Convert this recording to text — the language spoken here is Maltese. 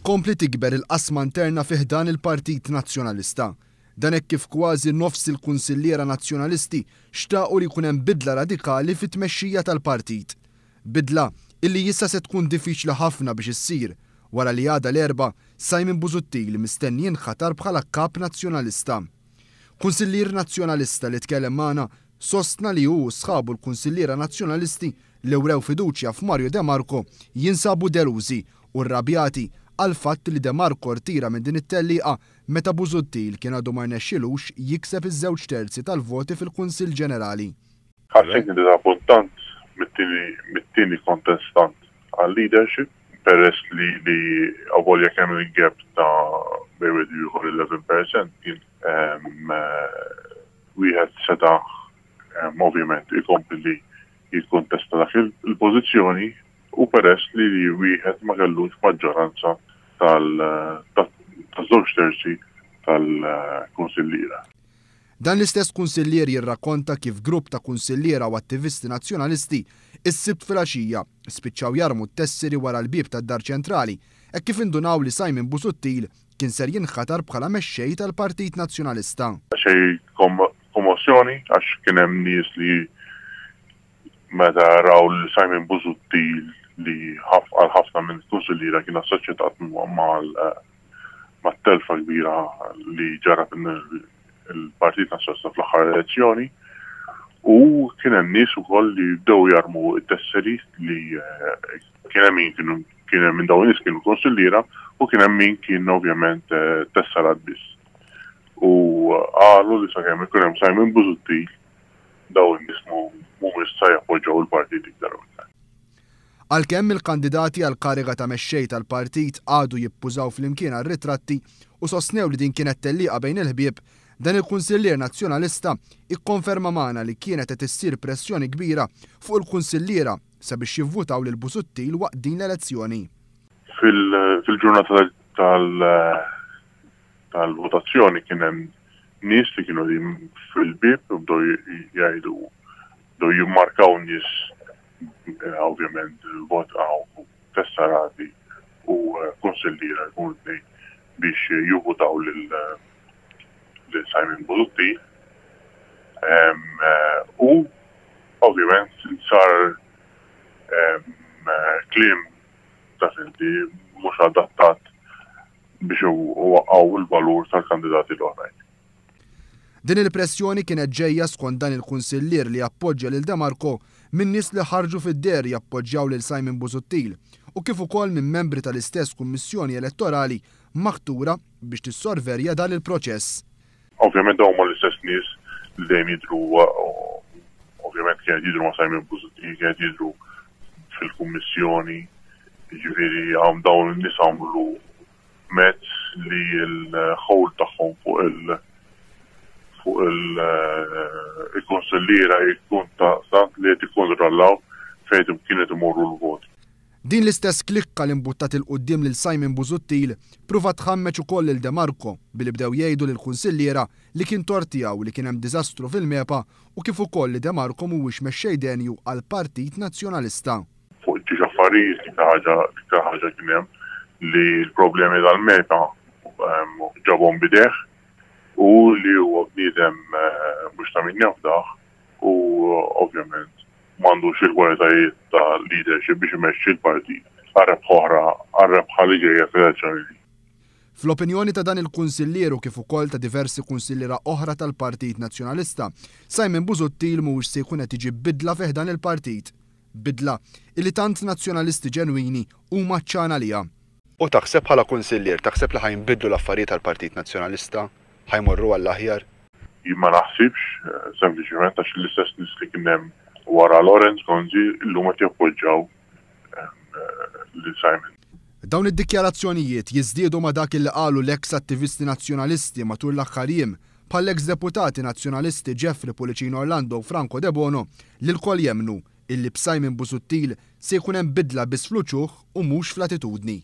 tkompli tikber il-qasma interna fi ħdan il-Partit Nazzjonalista. Dan hekk kif kważi nofs il-kunsilliera Nazzjonalisti xtaqu li jkun hemm bidla radikali fit-tmexxija tal-partit. Bidla illi issa se tkun diffiċli ħafna biex issir wara li għada l-Erbgħa Simon Busuttil mistenni jinħatar bħala Kap Nazzjonalista. Kunsillier Nazzjonalista li tkellem magħna sostna li hu u sħabu l-kunsilliera Nazzjonalisti li wrew fiduċja f'Mario De Marco jinsabu delużi u rrabjati għall-fatt li De Marco rtira minn din it-tellieqa meta Busuttil kien għadu ma rnexxilux jikseb iż-żewġ terzi tal-voti fil-Kunsill Ġenerali. Ħassejtni diżappuntant mit-tieni kontestant għal-leadership peress li li avolja kemm il-gap ta' bejn wieħed u ieħor 11% kien wieħed seta' ovvjament ikompli li jikkontesta dak il-pożizzjoni u peress li wieħed ma kellux maġġoranza tal-żewġ terzi tal-kunsilliera. Dan l-istess kunsillier jirrakkonta kif grupp ta' kunsilliera u attivisti Nazzjonalisti s-Sibt filgħaxija spiċċaw jarmu t-tesseri wara l-bieb tad-Dar Ċentrali hekk kif indunaw li Simon Busuttil kien ser jinħatar bħala mexxej tal-Partit Nazzjonalista. Xi kommossjoni għax kien hemm nies li meta raw lil Simon Busuttil li għal ħafna minn kunsilliera kien assoċjatat mat-telfa kbira li ġarrab il-Partit Nazzjonalista fl-aħħar elezzjoni u kien hemm nies ukoll li bdew jarmu t-tesseri li kien hemm min kienu kien hemm minn dawn nies kienu konsilliera u kien hemm min kien ovvjament tesserat biss. U qalu li sakemm ikun hemm Simon Busuttil dawn in-nies mhumiex sa jappoġġaw il-partit iktar u iktar. Għalkemm il-kandidati għall-kariga ta' mexxej tal-partit qagħdu jippużaw flimkien għar-ritratti u sostnew li din kienet tellieqa bejn il-ħbieb, dan il-kunsillier Nazzjonalista ikkonferma magħna li kienet qed issir pressjoni kbira fuq il-kunsilliera sabiex jivvutaw lil Busuttil waqt din l-elezzjoni. Fil-ġurnata tal-votazzjoni kien hemm nies li kienu qegħdin fil-bieb u bdew jgħidu bdew jimmarkaw nies ovvjament votaw tessarati u kunsilliera jkunu tnejn biex jivvutaw lil Simon Busuttil. U ovvjament sar kliem taf inti mhux adattat biex iwaqqgħu l-valur tal-kandidati l-oħrajn. Din il-pressjoni kienet ġejja skont dan il-kunsillier li appoġġja lil De Marco minn nies li ħarġu fid-deher jappoġġjaw lil Simon Busuttil u kif ukoll minn membri tal-istess Kummissjoni Elettorali maħtura biex tissorvelja dan il-proċess. Ovvjament dawn huma l-istess nies li dejjem jidhru ovvjament kienet jidhru ma' Simon Busuttil, kienet jidhru fil-kummissjoni, jiġifieri dawn in-nies għamlu mezz li l-ħowl tagħhom fuq il fuq il-kunsilliera jkun ta' tant li qed jikkontrollaw fejn kienet imorru l-voti. Din l-istess klikka li mbuttat 'il quddiem lil Simon Busuttil ppruvat tħammeġ ukoll lil De Marco billi bdew jgħidu lill-kunsilliera li kien tort tiegħu li kien hemm diżastru fil-MEPA u kif ukoll li De Marco mhuwiex mexxej denju għall-Partit Nazzjonalista. Fuq ġiex affarijiet l-iktar ħaġa l-iktar ħaġa kien hemm li l-problemi tal-MEPA ġabhom b'idejh u li huwa bniedem mhux ta' min jafdah u ovvjament m'għandux il-kwalitajiet ta' leadership biex imexxi l-partit għal rebħa oħra għal rebħa li ġejja fl-elezzjoni li Fl-opinjoni ta' dan il-kunsillier u kif ukoll ta' diversi kunsilliera oħra tal-Partit Nazzjonalista, Simon Busuttil mhuwiex se jkun qed iġib bidla fi ħdan il-partit. Bidla illi tant Nazzjonalisti ġenwini huma għatxan għaliha. U taħseb bħala kunsillier, taħseb li ħa jinbidlu l-affarijiet għall-Partit Nazzjonalista? Ħa jmorru għall-aħjar? Jien ma naħsibx, sempliċement għax l-istess nies li kien hemm wara Lawrence Gonzi llum qed jappoġġjaw lil Simon. Dawn id-dikjarazzjonijiet jiżdiedu ma' dak illi qalu l-eks attivisti Nazzjonalisti matul l-aħħar jiem, bħall-eks deputati Nazzjonalisti Jeffrey Pullicino Orlando u Franco Debono li lkoll jemmnu illi b'Simon Busuttil se jkun hemm bidla biss fl-uċuħ u mhux fl-attitudni.